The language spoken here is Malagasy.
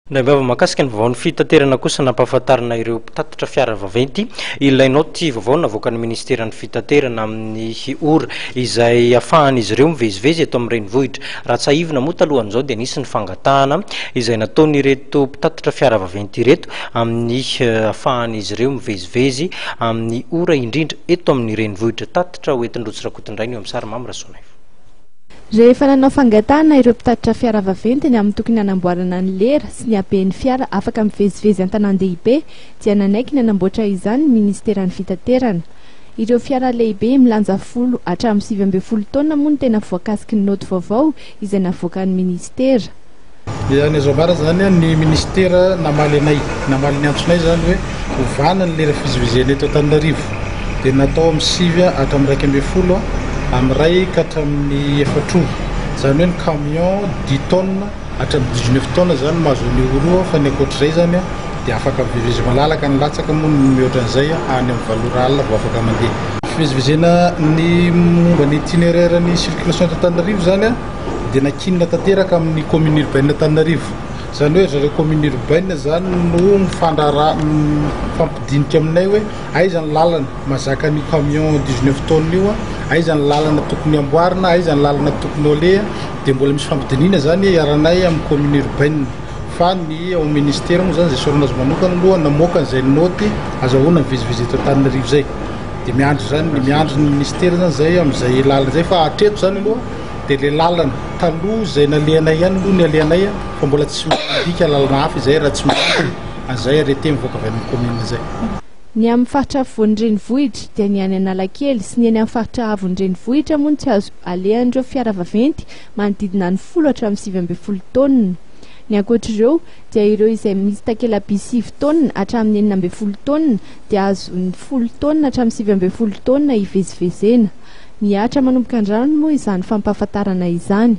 Indray mahakasika ny vaovaon'ny fitaterana kosa, nampahafantarina ireo mpitatitra fiara vaventy ilay naoty vaovao navoakan'ny ministeran'ny fitaterana amin'ny ora izay ahafahan'izy ireo mivezivezy eto amin'ny renivohitra. Raha tsiahivina moa, talohan'izao dia nisy ny fangatahana izay nataon'ireto mpitatitra fiara vaventy ireto amin'ny ahafahan'izy ireo mivezivezy amin'ny ora indrindra eto amin'ny renivohitra. Tatitra hoentin-dRotsy Rakotondrainy eo amin'ny sary Mamy Rasoanaivo. Rehefa nanao fangatahana ireo mpitatitra fiara vaventy ny amin'ny tokony hanamboarana ny lera sy ny haben'ny fiara afaka mivezivezy an-tanàn-dehibe, dia nanaiky ny hanamboatra izany ny ministeran'ny fitaterana. Ireo fiara lehibe milanja 10 hatramin'ny 19 taonina moa no tena voakasiky ny naoty vaovao izay navoakan'ny ministera. Dia ny azo ambara zany, ny ministera namaly anay, namaly ny antsonay zany hoe ovana ny lera fivezivezena eto Antananarivo, dia natao amin'ny 9 hatramin'ny 11, amin'ny 1 ka hatramin'ny 4 ora. Zany hoe ny camion 10 tonnes hatramin'ny 19 tonnes zany mahazo an'io ora, fa ny ankoatr'izay zany dia afaka mivezivezy malalaka. Ny latsaka moa ny mihoatra an'izay, any amin'ny 8 ora alina vao afaka mandeha. Fivezivezena, ny momba ny itinéraire ny circulation eto Antananarivo zany dia nankinina tanteraka amin'ny commune urbaine Antananarivo. Zany hoe zareo commune urbaine zany no mifandrara, mifampidinika aminay hoe aiza ny lalana mahazaka an'io camion 19 tonnes io, aiza ny lalana tokony amboarina, aiza ny lalana tokony aleha. Dia mbola misy fampidinina zany iarahanay amin'ny commune urbaine, fa ny ao ministère moa zany zay sorana azy manokana aloha namoaka an'izay noty azahoana mivezivezy eto Antananarivo zay. Dia miandry zany, miandry ny ministère zany zay amin'izay lalana zay, fa hatreto zany aloha dia le lalana taloha zay nalehanay ihany aloha ny alehanay, fa mbola tsy mandika lalana hafa izay raha tsy miandry an'izay arrêté mivoaka avy amin'ny commune zay. Ny amin'ny faritra afovoan'ny renivohitra, dia ny any Analakely sy ny eny amin'ny faritra avon'ny renivohitra moa no tsy azo alehan'ireo fiara vaventy manodidina ny 10 hatramin'ny 19 taonina. Ny ankoatr'ireo dia ireo izay misy takela-by 9 taonina hatramin'ny 16 taonina dia azo ny 10 taonina hatramin'ny 19 taonina hivezivezena. Mihatra manomboka androany moa izany fampahafantarana izany.